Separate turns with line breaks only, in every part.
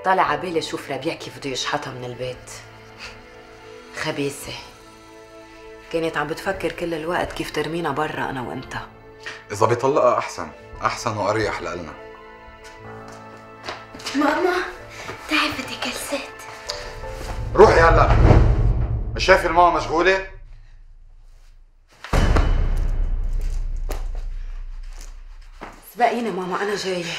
طالع عبالي اشوف ربيع كيف بده يشحطها من البيت. خبيثة، كانت عم بتفكر كل الوقت كيف ترمينا برا انا وانت.
اذا بيطلقها احسن واريح لإلنا.
ماما تعبت جلست.
روحي هلا، مش شايفه الماما مشغوله؟
سبقيني ماما انا جايه.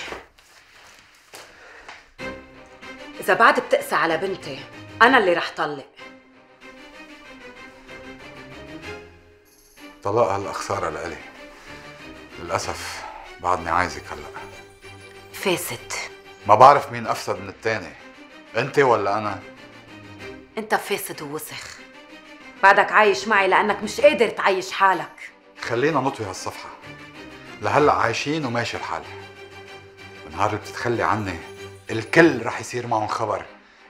اذا بعد بتقسى على بنتي انا اللي رح طلق.
طلاقها هلا خساره لإلي، للاسف بعدني عايزك هلا.
فاسد.
ما بعرف مين افسد من التاني، انت ولا انا؟
انت فاسد ووسخ، بعدك عايش معي لانك مش قادر تعيش حالك.
خلينا نطوي هالصفحه، لهلا عايشين وماشي الحال. النهار اللي بتتخلي عني الكل رح يصير معهم خبر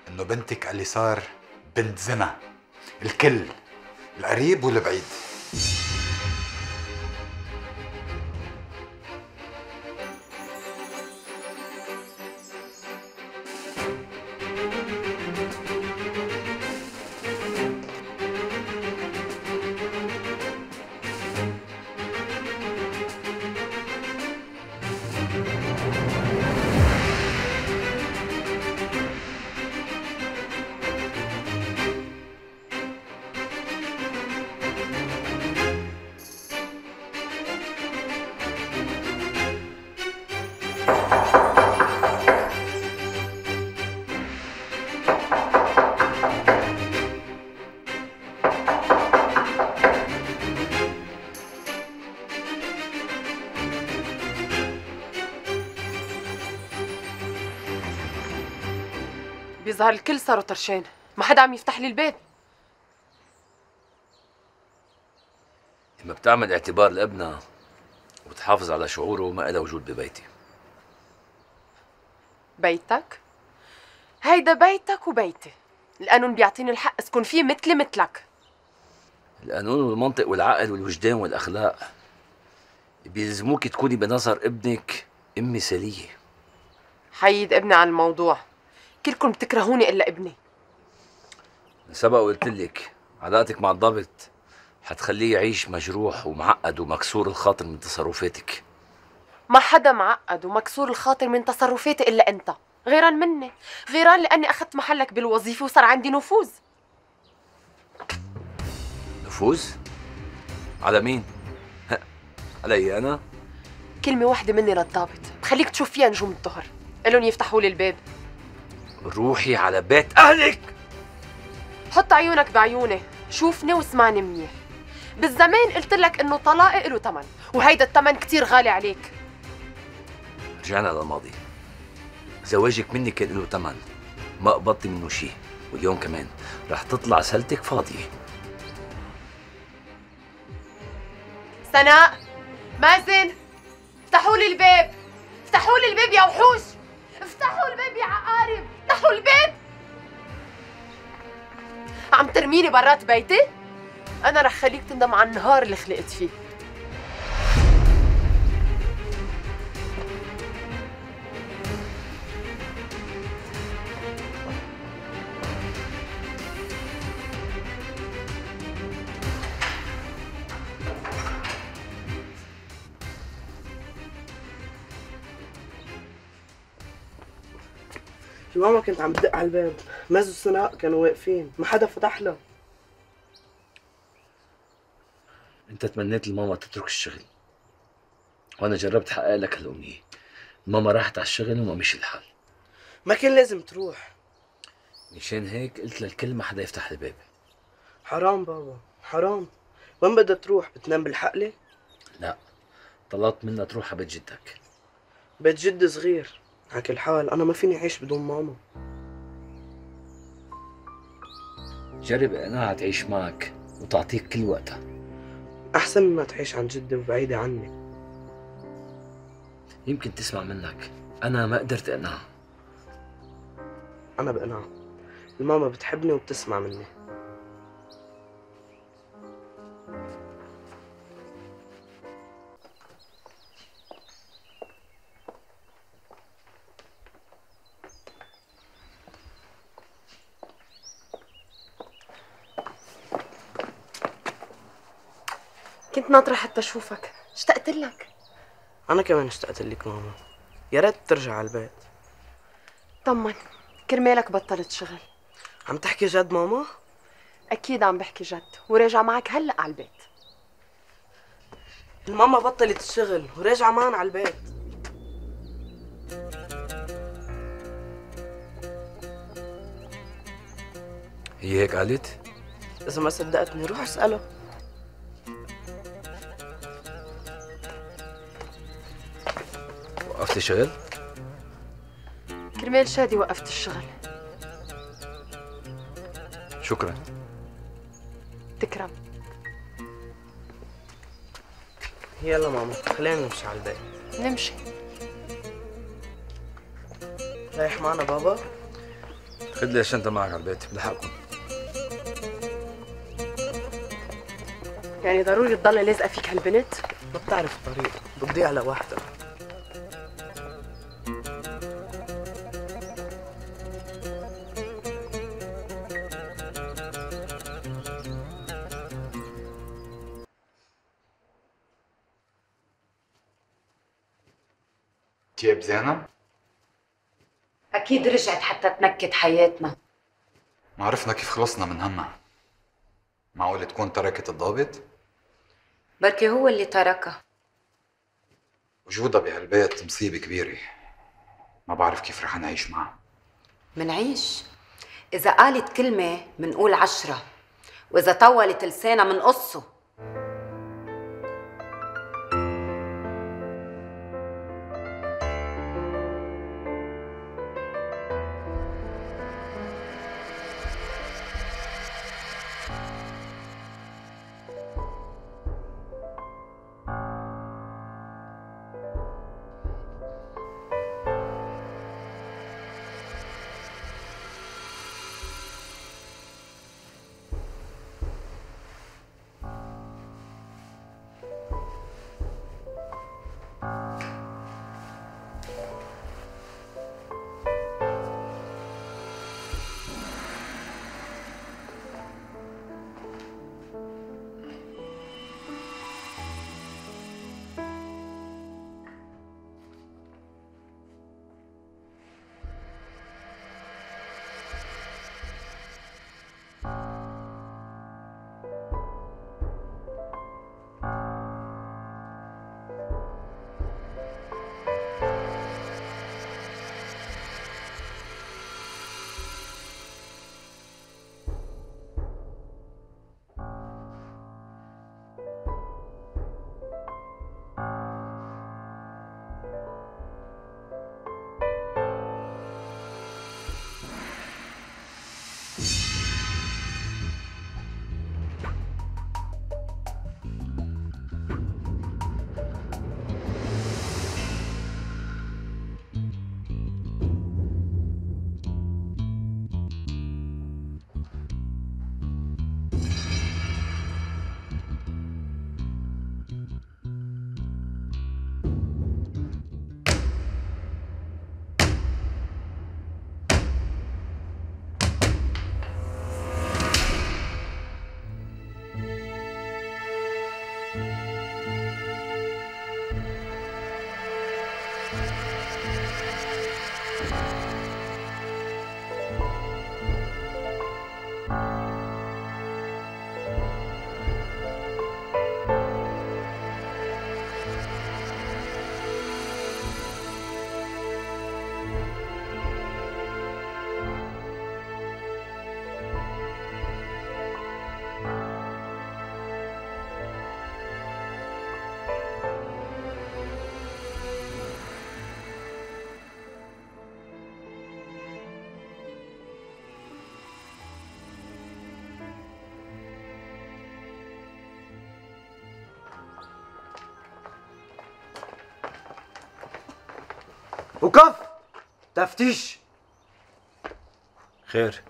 انه بنتك اللي صار بنت زنا. الكل، القريب والبعيد.
بيظهر الكل صاروا طرشان، ما حدا عم يفتح لي الباب.
لما بتعمل اعتبار لابنها وبتحافظ على شعوره ما إلها وجود ببيتي.
بيتك؟ هيدا بيتك وبيتي. القانون بيعطيني الحق اسكن فيه مثلي مثلك.
القانون والمنطق والعقل والوجدان والأخلاق بيلزموك تكوني بنظر ابنك أم مثالية.
حيد ابني عن الموضوع، كلكم بتكرهوني إلا ابني.
سبق وقلت لك علاقتك مع الضابط حتخليه يعيش مجروح ومعقد ومكسور الخاطر من تصرفاتك.
ما حدا معقد ومكسور الخاطر من تصرفاتي إلا أنت، غيران مني، غيران لأني أخذت محلك بالوظيفة وصار عندي نفوذ.
نفوذ؟ على مين؟ علي أنا؟
كلمة واحدة مني للضابط بخليك تشوف فيها نجوم الظهر، قلن يفتحوا لي الباب.
روحي على بيت أهلك.
حط عيونك بعيوني، شوفني واسمعني منيح. بالزمان قلت لك إنه طلاقي له ثمن، وهيدا الثمن كتير غالي عليك.
رجعنا للماضي. زواجك مني كان له ثمن، ما قبضتي منه شيء، واليوم كمان رح تطلع سلتك فاضية.
سناء، مازن، افتحوا لي الباب، افتحوا لي الباب يا وحوش، افتحوا الباب يا عقارب، افتحوا الباب. عم ترميني برات بيتي؟ أنا رح خليك تندم على النهار اللي خلقت فيه.
ماما كنت عم بدق على الباب، مازو وسناء كانوا واقفين، ما حدا فتح له.
انت تمنيت الماما تترك الشغل، وانا جربت حقق لك هالامنية. الماما راحت على الشغل وما مشي الحال.
ما كان لازم تروح.
مشان هيك قلت للكل ما حدا يفتح الباب.
حرام بابا، حرام. وين بدها تروح؟ بتنام بالحقلة؟
لا، طلبت منها تروح على بيت جدك.
بيت جد صغير، على كل حال أنا ما فيني أعيش بدون ماما.
جرب انها تعيش معك وتعطيك كل وقتها.
أحسن مما تعيش عن جدي وبعيدة عني.
يمكن تسمع منك، أنا ما قدرت أقنعها.
أنا بقنعها، الماما بتحبني وبتسمع مني.
كنت ناطرة حتى اشوفك، اشتقت لك.
انا كمان اشتقت لك ماما، يا ريت ترجع على البيت.
طمن، كرمالك بطلت شغل.
عم تحكي جد ماما؟
اكيد عم بحكي جد، وراجع معك هلا على البيت.
الماما بطلت الشغل وراجعة معنا على البيت.
هي هيك قالت؟
إذا ما صدقتني روح اسأله.
وقفت شغل؟
كرمال شادي وقفت الشغل.
شكرا.
تكرم.
يلا ماما خلينا نمشي على البيت.
نمشي.
رايح معنا بابا؟
خد لي الشنطة معك على البيت بلحقكم.
يعني ضروري تضل لازقة فيك هالبنت؟
ما بتعرف الطريق، بتضيع لوحدها.
كيف زينب؟
أكيد رجعت حتى تنكد حياتنا.
ما عرفنا كيف خلصنا من همها. معقول تكون تركت الضابط؟
بركي هو اللي تركها.
وجودها بهالبيت مصيبة كبيرة. ما بعرف كيف رح نعيش معها.
منعيش. إذا قالت كلمة منقول 10، وإذا طولت لسانها منقصه.
وقف تفتيش.
خير،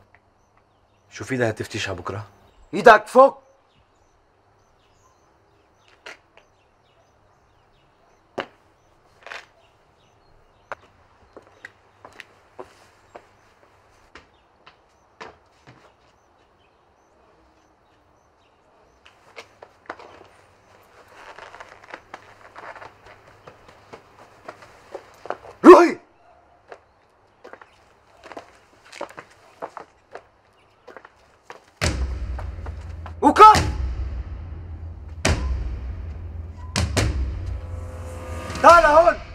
شو في لها تفتيش على بكره؟
ايدك فوق. تعال هون.